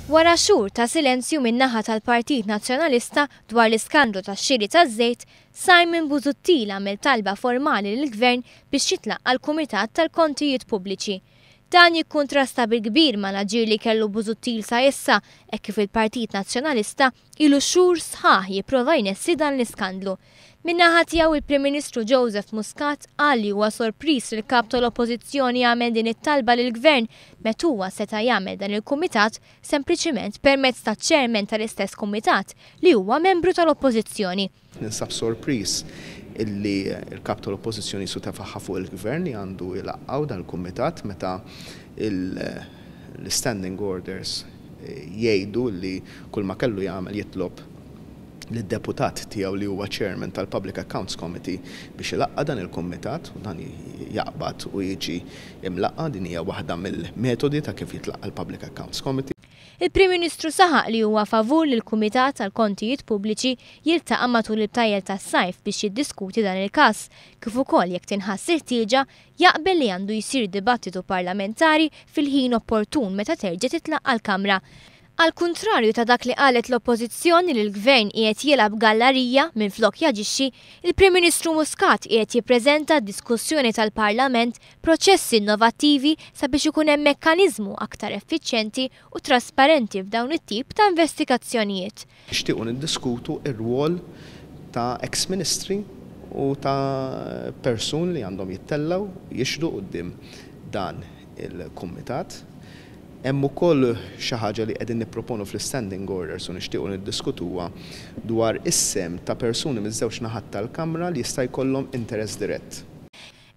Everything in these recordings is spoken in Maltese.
Wara xhur ta' silenzju min-naħa tal-Partit Nazzjonalista dwar l-iskandlu tax-xiri taż-żejt, Simon Busuttil għamel talba formali lill-Gvern biex jitlaqqa' l-Kumitat tal-Kontijiet Pubbliċi. Dan jikkuntrasta bil-kbir mal-aġir li kellu Busuttil sa issa hekk kif il-Partit Nazzjonalista ilu xhur sħaħ jipprova jnessi dan l-iskandlu. Min-naħa tiegħu il-Prim Ministru Joseph Muscat qal li huwa sorpriż li l-Kap tal-Oppożizzjoni għamel din it-talba lill-Gvern meta huwa seta' jagħmel dan il-kumitat sempliċiment permezz taċ-chairman tal-istess kumitat li huwa membru tal-Oppożizzjoni. Ninsab sorpriż illi l-Kap tal-Oppożizzjoni su tefaħħa fuq il-Gvern li għandu jlaqqgħu dan il-kumitat meta l-standing orders jgħidu li kull ma kellu jagħmel jitlob lid-deputat tiegħu li huwa chairman tal-Public Accounts Committee biex ilaqqa' dan il-kumitat u dan jaqbad u jiġi imlaqqa'. Din hija waħda mill-metodi ta' kif jitlaqqa' l-Public Accounts Committee. Il-Prim Ministru saħaq li huwa favur li l-Kumitat tal-Kontijiet Pubbliċi jiltaqa' matul il-btajjel tas-sajf biex jiddiskuti dan il-każ, kif ukoll jekk tinħass il-ħtieġa jaqbel li għandu jsir dibattitu parlamentari fil-ħin opportun meta terġa' titlaqqa' l-Kamra. Għall-kuntrarju ta' dak li qalet l-Oppożizzjoni li l-Gvern qiegħed jilgħab gallarija minflok jaġixxi, il-Prim Ministru Muscat qiegħed jippreżenta għad-diskussjoni tal-Parlament proċessi innovattivi sabiex ikun hemm mekkaniżmu aktar effiċjenti u trasparenti f'dawn it-tip ta' investigazzjonijiet. Nixtiequ niddiskutu r-rwol ta' eks-ministri u ta' persuni li għandhom jittellgħu jixhdu quddiem dan il-kumitat. Hemm ukoll xi ħaġa li qegħdin nipproponu fl-standing orders u nixtiequ niddiskutuha dwar is-sehem ta' persuni miż-żewġ naħat tal-Kamra li jista' jkollhom interess dirett.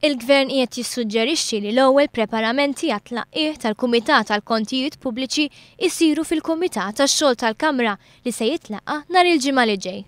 Il-Gvern qiegħed jissuġġerixxi li l-ewwel preparamenti għat-tlaqqigħ tal-Kumitat għall-Kontijiet Pubbliċi jsiru fil-Kumitat għax-Xogħol tal-Kamra li se jitlaqqa' nhar il-Ġimgħa li ġej.